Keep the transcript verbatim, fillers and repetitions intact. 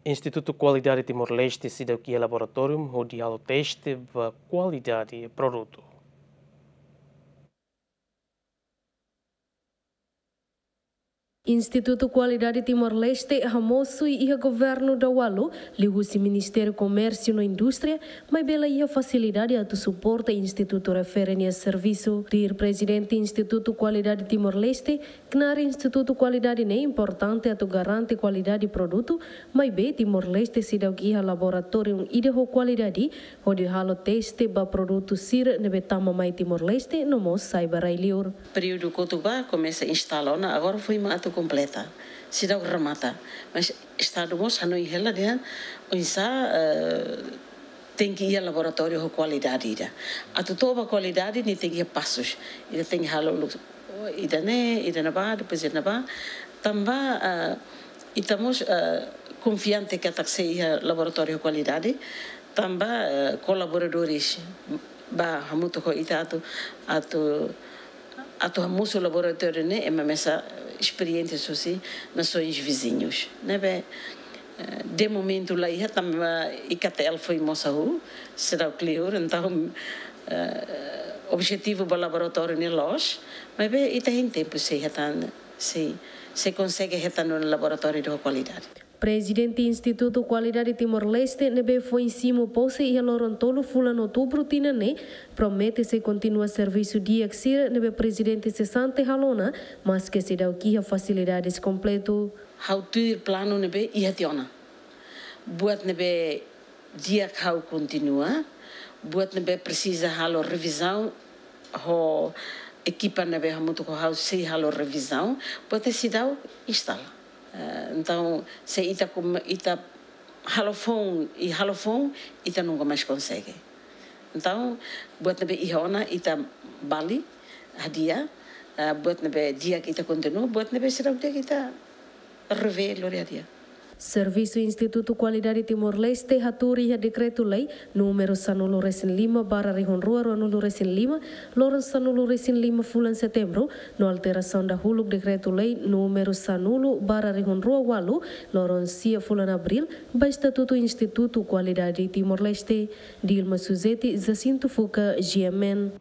Institutu Kualidade Timor-Leste seidauk iha laboratóriu hodi halo teste ba kualidade produtu. Institutu Kualidade Timor-Leste hamosu iha governu daualu, liuhusi Ministériu Komérsiu no Indústria, maibé la iha fasilidade atu suporta institutu refere nia servisu. Tuir Prezidente Institutu Kualidade Timor-Leste, knaar Institutu Kualidade ne'e importante atu garante kualidade produtu, maibé Timor-Leste seidauk iha laboratóriu ida ho kualidade, hodi halo teste ba produtu sira ne'ebé tama mai Timor-Leste no mós sai ba rai-liur. Períodu kotuk ba komesa instala ona, agora foin mak atu kompleta. Seidauk remata. Mas Estadu mós hanoin hela dehan oinsá, eh, tenke iha laboratóriu ho kualidade ida. Atu to'o ba kualidade nia tenke iha pasus. Ita tenke halo uluk, oh, ida-ne'e, ida ne'ebá, depois ida ne'ebá. Tanba, eh, ita mós, eh, konfiante katak sei iha laboratóriu ho kualidade. Tanba, eh, kolaboradores ba hamutuk ho ita atu, atu, atu hamosu laboratóriu ne'e ema mesak esperiénsia husi nasoens viziñus. Ne'ebé, eh, de momentu la iha tanba I K T L foin mós hahú, seidauk liur, entaun, eh, objetivu ba laboratóriu ne'e loos, maibé ita hein tempu sei hetan, sei, sei konsege hetan ona laboratóriu ho kualidade. Prezidente Institutu Kualidade Timor-Leste ne'ebé foin simu pose iha loron tolu fulan Outubru tinan ne'e, promete sei kontinua servisu di'ak sira ne'ebé prezidente sesante halo ona, maske seidauk iha fasilidades kompletu. Ha'u tuir planu ne'ebé iha tiha ona. Buat ne'ebé di'ak ha'u kontinua, buat ne'ebé presiza halo revizaun, ho ekipa ne'ebé hamutuk ho ha'u sei halo revizaun, buat ne'e seidauk instala. Eh, entaun, se ita kom-, ita halo foun, i halo foun, ita nunka mais konsege. Entaun, buat ne'ebé iha ona ita bali hadi'a, eh, buat ne'ebé di'ak ita kontinua, buat ne'ebé seidauk di'ak ita revee lori hadi'a. Servisu Institutu Kualidade Timor-Leste hatuur iha Dekretu-Lei númeru sanulu resin lima barra rihun rua ruanulu resin lima, loron sanulu resin lima fulan Setembru, no alterasaun dahuluk Dekretu-Lei númeru sanulu barra rihun rua ualu, loron sia fulan Abríl, ba Estatutu Institutu Kualidade Timor-Leste. Dilma Suzeti, Jacinto Fuca, G M N.